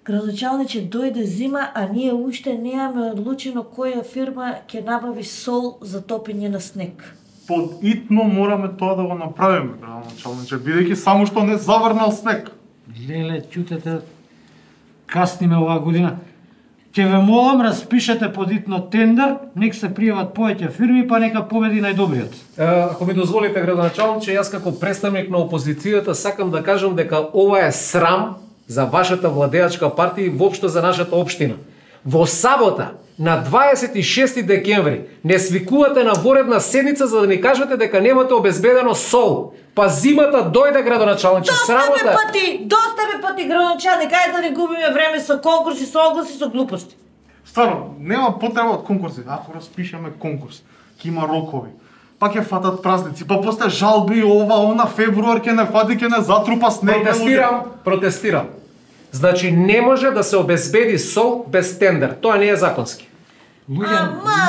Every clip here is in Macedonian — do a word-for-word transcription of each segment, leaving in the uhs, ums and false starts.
Градоначалниче, дојде зима, а ние уште немаме одлучено која фирма ќе набави сол за топење на снег. Подитно мораме тоа да го направиме, градоначалниче, бидејќи само што не заврнал снег. Леле, чутете, касниме оваа година. Ќе ве молам, распишете подитно тендер, нек се пријават повеќе фирми, па нека победи најдобриот. Ако ми дозволите, градоначалниче, јас како представник на опозицијата сакам да кажам дека ова е срам за вашата владеачка партија и воопшто за нашата општина. Во сабота, на дваесет и шести декември, не свикувате на воредна седница за да ни кажете дека немате обезбедено сол. Па зимата дојде, градоначалниче, срамота. Доста бе пати, доста бе пати, градоначалник, ајде да не губиме време со конкурси, со огласи, со глупости. Стварно, нема потреба од конкурси. Ако распишеме конкурс, ќе има рокови, па ќе фатат празници, па после жалби ова, она, февруар ќе не фати, ќе не затрупа снег. Протестирам, протестирам. Значи не може да се обезбеди сол без тендер. Тоа не е законски. Луѓе,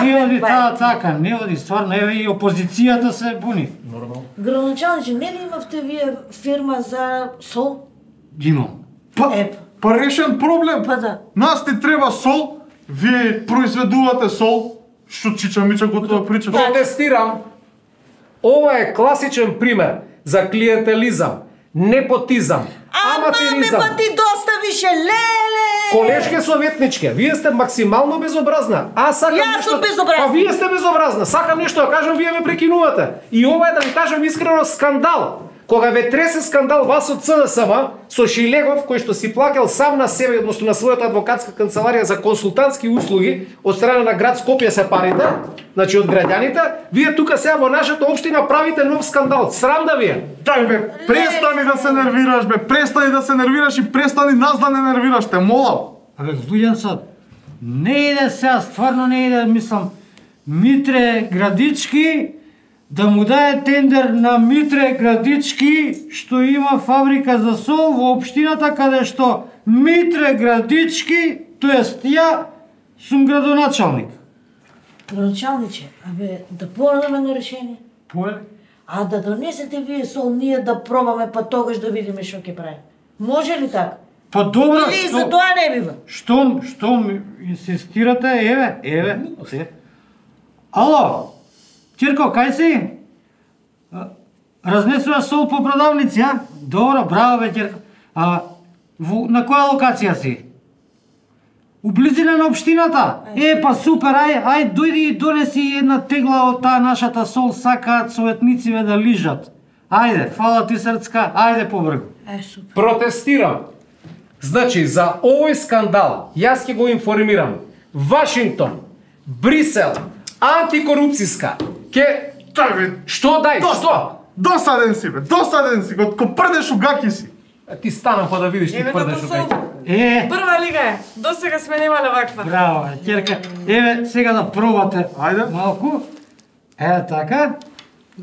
не оди таа така, не оди, стварно, еве и опозицијата се буни. Нормално. Градоначалниче, не ли имавте вие фирма за сол? Имам. Па, Еп. па решен проблем. Па да. Нас ти треба сол, вие произведувате сол, што Чича Мича готова прича. Протестирам. Ова е класичен пример за клиентелизам, непотизам, Ама ме аматеризам. пати доста више, леле! Колешке советничке, вие сте максимално безобразна. Аз сакам Јас нешто... сум безобразна. Па вие сте безобразна. Сакам нешто да кажам, вие ме прекинувате. И ова е да ви кажам искрено скандал. Кога ве тресе скандал вас од С Д С М со Шилегов, кој што си плакал сам на себе, односно на својата адвокатска канцеларија за консултантски услуги од страна на град Скопје се парите, значи од граѓаните, вие тука сега во нашата општина правите нов скандал. Срам да ви е. Дај бе, престани да се нервираш бе, престани да се нервираш и престани нас да не нервираш, те молам. Абе, Луѓенцо, не иде сега, стварно не иде, мислам, Митре Градички да му даде тендер на Митре Градички, што има фабрика за сол во општината каде што Митре Градички, тоест ја сум градоначалник. Градоначалниче, абе, да порадаме на решение. Поле? А да донесете вие сол, ние да пробаме, па тогаш да видиме што ќе прави. Може ли така? Па добро, Или што... за тоа не бива? Штом, штом инсистирате, еве, еве. Се. Ало, Чирко, кај си? А, Разнесуваш сол по продавници, а? Добро, браво бе, Чирко. А, во, на која локација си? У близина на општината? Е, па супер, ај, ај, дојди и донеси една тегла од таа нашата сол, сакаат советнициве да лижат. Ајде, фала ти срцка, ајде побргу. Е, супер. Протестирам. Значи, за овој скандал, јас ќе го информирам. Вашингтон, Брисел, антикорупцијска, ке... Дај бе, Што дај? доста, Што? досаден си бе, досаден си, го ко прдеш у гаки си. А ти станам па да видиш ти Еве прдеш како окај. сол. Е, Прва лига е. До сега сме немале ваква. браво, Ќерка. Еве, сега да пробате. Ајде. Малку. Е, така.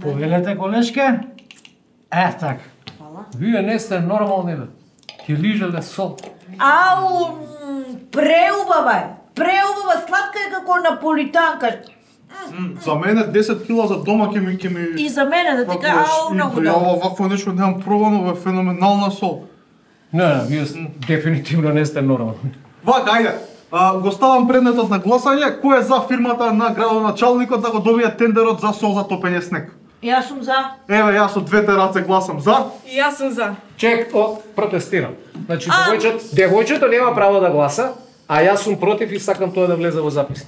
Повелете, колешке. Е, така. Вие не сте нормални, бе. Ќе лижеле сол. Ау, м, преубава е. Преубава, сладка е како наполитанка. За мене десет кила за дома ќе ми ќе ми И за мене да ти кажа, ау, многу Ја добро. вакво нешто немам пробано, бе, феноменална сол. Не, не, вие сте- дефинитивно не сте нормални. Вака, ајде. А, го ставам предметот на гласање. Кој е за фирмата на градоначалникот да го добие тендерот за сол за топење снег? Јас сум за. Еве, јас од двете раце гласам за. И јас сум за. Чек, о, протестирам. Значи, А! девојчето, девојчето нема право да гласа, а јас сум против и сакам тоа да влезе во запис.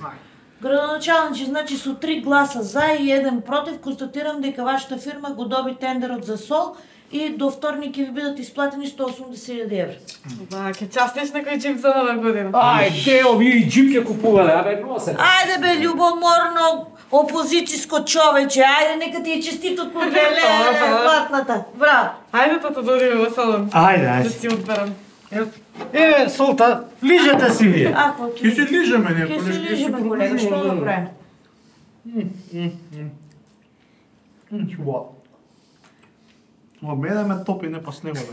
Градоначалниче, значи со три гласа за и еден против, констатирам дека вашата фирма го доби тендерот за сол и до вторник ќе ви бидат исплатени сто и осумдесет илјади евра. Да, ќе частеш некој џип за нова година. Ајде, овие и джип ќе купувале, абе, носе. Ајде бе, љубоморно опозицијско човече, ајде нека ти е честито по леле, златната. Браво. Ајде тато да одиме во салон. Ајде, Да ајде. си одберам. Еве, солта, лижете си вие. Ако Ќе се лижеме ние, Ќе се понешто ќе лижеме, колега, што да правиме? Чува. Ма мене ме топи не па снегот.